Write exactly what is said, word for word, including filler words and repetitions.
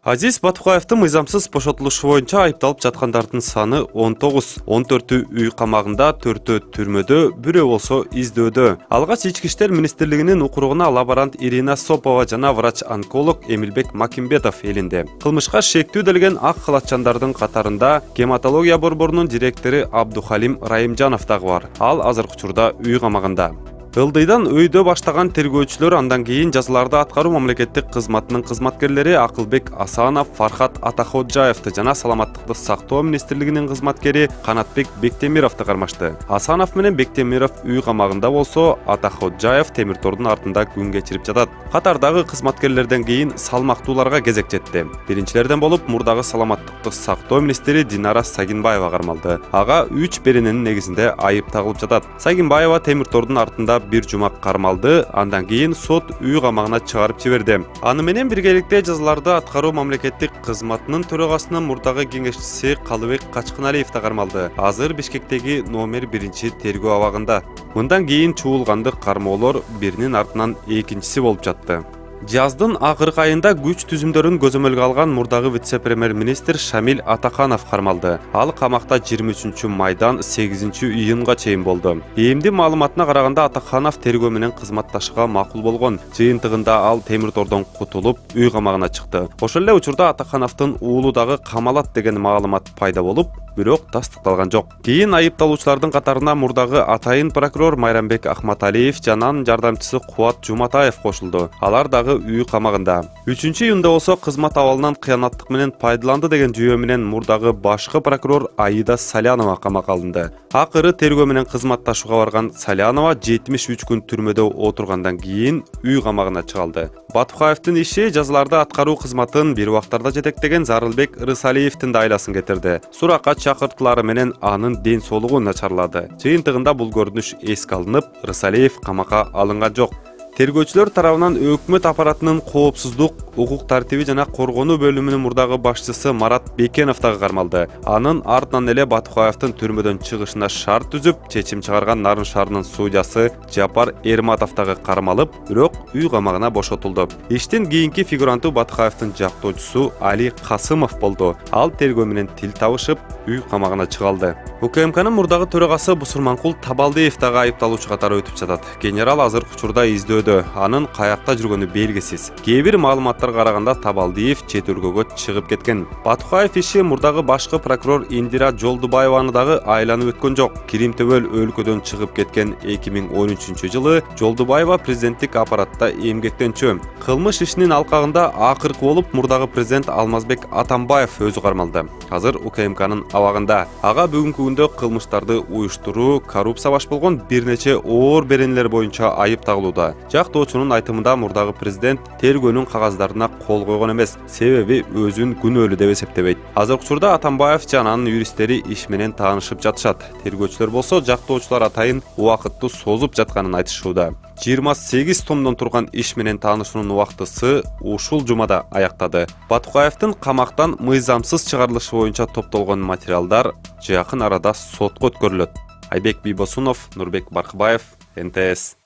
Азиз Батукаевдин мыйзамсыз бошотулушу боюнча айыпталып жаткандардын саны он тогуз. он төртү үй камагында, төртөө түрмөдө, бирөө болсо издөөдө. Алгач ички иштер министрлигинин укуругуна лаборант Ирина Сопова жана врач-онколог Эмилбек Макимбетов элинде. Кылмышка шектүү делген ак халатчандардын катарында гематология борборунун директору Абдухалим Райымжанов дагы бар. Ал азыркы учурда үй камагында. Ылдыйдан өйдө баштаган тергөөчүлөр андан кийин жазаларды аткаруу мамлекеттик кызматынын кызматкерлери Акылбек Асанов, Фархат Атаходжаевди жана саламаттыкты сактоо министрлигинин кызматкери Канатбек Бектемировду кармашты. Асанов менен Бектемиров үй камагында болсо, Атаходжаев темир тордун артында күн кечирип жатат. Катардагы кызматкерлерден кийин салмактууларга кезек жетти. Биринчилерден болуп мурдагы саламаттыкты сактоо министри Динара Сагинбаева кармалды. Ага үч берененин негизинде айып тагылып жатат. Сагинбаева темир тордун артында бир жума кармалды, андан кийин сот үй камагына чыгарып жиберди. Аны менен биргеликте жазаларды аткаруу мамлекеттик кызматынын төрагасынын мурдагы кеңешчиси Калыбек Качкыналиев да кармалды. Азыр Бишкектеги номер биринчи тергөө абагында. Мындан кийин чуулганды кармоолор биринин артынан экинчиси болуп жатты. Жаздын акыркы айында күч түзүмдөрүн көзөмөлгө алган мурдагы вице-премьер-министр Шамил Атаканов кармалды. Ал камакта жыйырма үчүнчү майдан сегизинчи июнга чейин болду. Эмди маалыматына караганда Атаканов тергөө менен кызматташууга макул болгон. Жыйынтыгында ал темир тордон кутулуп, үй камагына чыкты. Ошол эле учурда Атакановдун уулу дагы камалат деген маалымат пайда болуп, бирок тастыкталган жок. Кийин айыпталуучулардын катарына мурдагы атайын прокурор Майрамбек Ахматалиев жана анын жардамчысы Кубат Жуматаев кошулду. Алар дагы үй камагында. үчүнчү июнда болсо кызмат абалынан кыянаттык менен пайдаланды деген жүйө менен мурдагы башкы прокурор Аида Салянова камакка алынды. Акыры тергөө менен кызматташууга барган Салянова жетимиш үч күн түрмөдө отургандан кийин үй камагына чыгалды. Батукаевдин иши жазаларды аткаруу кызматын бир убактарда жетектеген Зарылбек Рысалиевдин да айласын кетирди. Суракка чакыртуулары менен анын ден соолугу начарлады. Жыйынтыгында бул көрүнүш эске алынып, Рысалиев камакка алынган жок. Тергөөчүлөр тарабынан өкмөт аппаратынын коопсуздук, укук тартиби жана коргонуу бөлүмүнүн мурдагы башчысы Марат Бекенов дагы кармалды. Анын артынан эле Батукаевдин түрмөдөн чыгышына шарт түзүп, чечим чыгарган Нарын шаарынын судьясы Жапар Эрматов дагы кармалып, бирок үй камагына бошотулду. Иштин кийинки фигуранты Батукаевдин жактоочусу Али Касымов болду. Ал тергөө менен тил табышып, үй камагына чыгалды. УКМКнын мурдагы төрагасы Бусурманкул Табалдиев дагы айыпталуучу катары өтүп жатат. Генерал азыркы учурда издөөдө. Анын каякта жүргөнү белгисиз. Кээ бир маалыматтарга караганда Табалдиев чет өлкөгө чыгып кеткен. Батукаев иши мурдагы башкы прокурор Индира Жолдубаеваны дагы айланып өткөн жок. Кирим төбөл өлкөдөн чыгып кеткен эки миң он үчүнчү жылы Жолдубаева президенттик аппаратта эмгектенчү. Кылмыш ишинин алкагында акыркы болуп мурдагы президент Алмазбек Атамбаев өзү кармалды. Азыр УКМКнын абагында. Ага бүгүнкү күндө кылмыштарды уюштуруу, коррупция баш болгон бир нече оор беренелер боюнча айып тагылууда. Жактоочунун айтымында мурдагы президент тергөөнүн кагаздарына кол койгон эмес, себеби өзүн күнөөлүү деп эсептебейт. Азыркы учурда Атамбаев жана анын юристтери иш менен таанышып жатышат. Тергөөчүлөр болсо жактоочулар атайын убакытты созуп жатканын айтышууда. жыйырма сегиз томдон турган иш менен таанышуунун убактысы ушул жумада аяктады. Батукаевдин камактан мыйзамсыз чыгарылышы боюнча топтолгон материалдар жакын арада сотко өткөрүлөт. Айбек Бийбосунов, Нурбек Баркыбаев, эн тэ эс.